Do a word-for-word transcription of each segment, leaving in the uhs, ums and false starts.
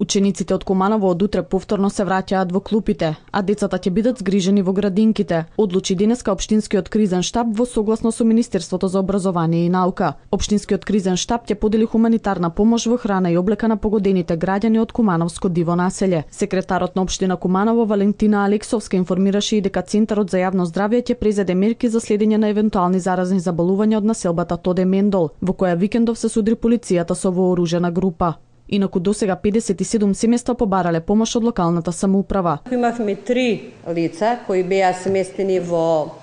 Учениците од Куманово од утре повторно се враќаат во клупите, а децата ќе бидат згрижени во градинките, одлучи денеска Општинскиот кризен штаб во согласно со Министерството за образование и наука. Општинскиот кризен штаб ќе подели хуманитарна помош во храна и облека на погодените граѓани од Кумановско диво населје. Секретарот на Општина Куманово Валентина Алексовска информираше и дека Центарот за јавно здравје ќе презеде мерки за следење на евентуални заразни заболувања од населбата Тоде Мендол, во која викендов се судри полицијата со вооружена група. Инаку досега педесет и седум семејства побарале помош од локалната самоуправа. Имавме три лица кои беа сместени во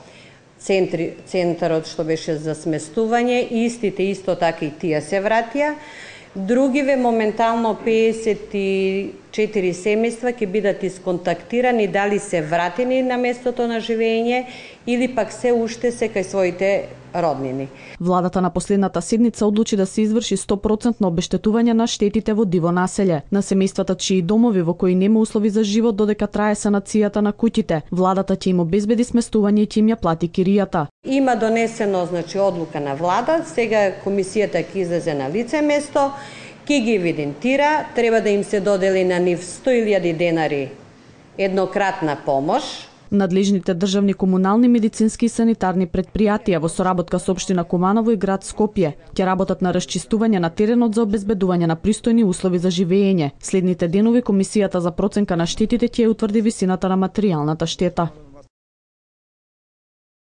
центри, центарот што беше за сместување, истите исто така и тие се вратија. Другиве моментално педесет и четири семејства ќе бидат исконтактирани дали се вратени на местото на живење или пак се уште се кај своите роднини. Владата на последната седница одлучи да се изврши сто проценти обештетување на штетите во диво населје, на семејствата чии домови во кои нема услови за живот додека трае санацијата на куќите. Владата ќе им обезбеди сместување и ќе им ја плати киријата. Има донесено значи одлука на влада, сега комисијата ќе излезе на лице место, ќе ги евидентира, треба да им се додели на нив сто илјади денари еднократна помош. Надлежните државни, комунални, медицински и санитарни предпријатија во соработка со Општина Куманово и град Скопје ќе работат на расчистување на теренот за обезбедување на пристојни услови за живење. Следните денови комисијата за проценка на штетите ќе утврди висината на материјалната штета.